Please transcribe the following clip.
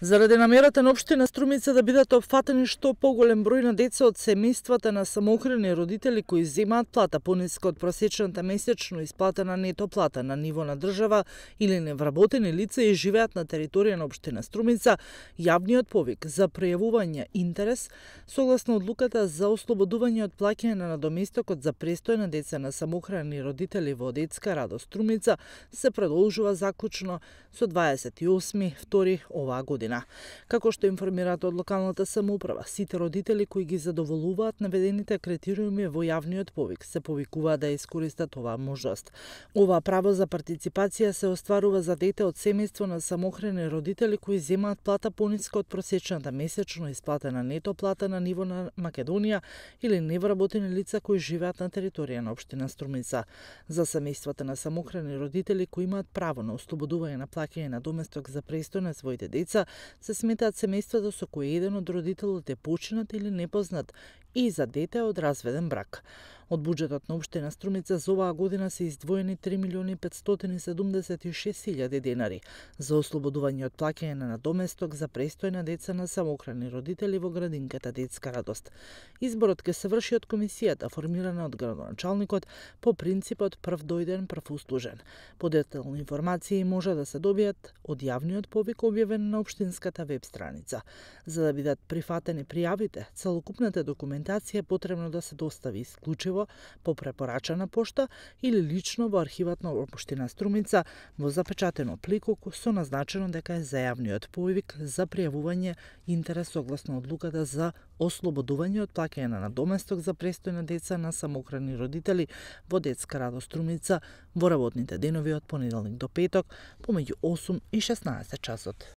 Заради намерата на општина Струмица да бидат опфатени што поголем број на деца од семејствата на самоохрани родители кои земаат плата пониска од просечната месечно исплатена нето плата на ниво на држава или невработени лица и живеат на територија на општина Струмица, јавниот повик за прејавување интерес согласно одлуката за ослободување од плаќање на надоместокот за престој на деца на самоохрани родители во детска радост Струмица се продолжува заклучно со 28.2 оваа година. Како што информираат од локалната самоуправа, сите родители кои ги задоволуваат наведените критериуми во јавниот повик се повикуваат да искористат оваа можност. Ова право за партиципација се остварува за дете од семејство на самоохрани родители кои земаат плата пониска од просечната месечно исплатена нето плата на ниво на Македонија или невработени лица кои живеат на територија на општина Струмица. За семејствата на самоохрани родители кои имаат право на ослободување на плаќање на доместок за престој на своите деца се сметаат семејствата со кои еден од родителите е починат или непознат и за дете од разведен брак. Од буџетот на општина Струмица за оваа година се издвоени 3.576.000 денари за ослободување од плаќање на надоместок за престој на деца на самоохрани родители во градинката Детска радост. Изборот ќе се врши од комисијата формирана од градоначалникот по принципот прв дојден, прв услужен. Подетелни информации може да се добијат од јавниот повик објавен на општинската веб страница. За да бидат прифатени пријавите, целокупната документација е потребно да се достави исклучиво по препорачана пошта или лично во архивот на општина Струмица во запечатено плико со назначено дека е за јавниот повик за пријавување интерес согласно одлуката за ослободување од плаќање на надоместок за престој на деца на самоохрани родители во Детска радост Струмица во работните денови од понеделник до петок помеѓу 8 и 16 часот.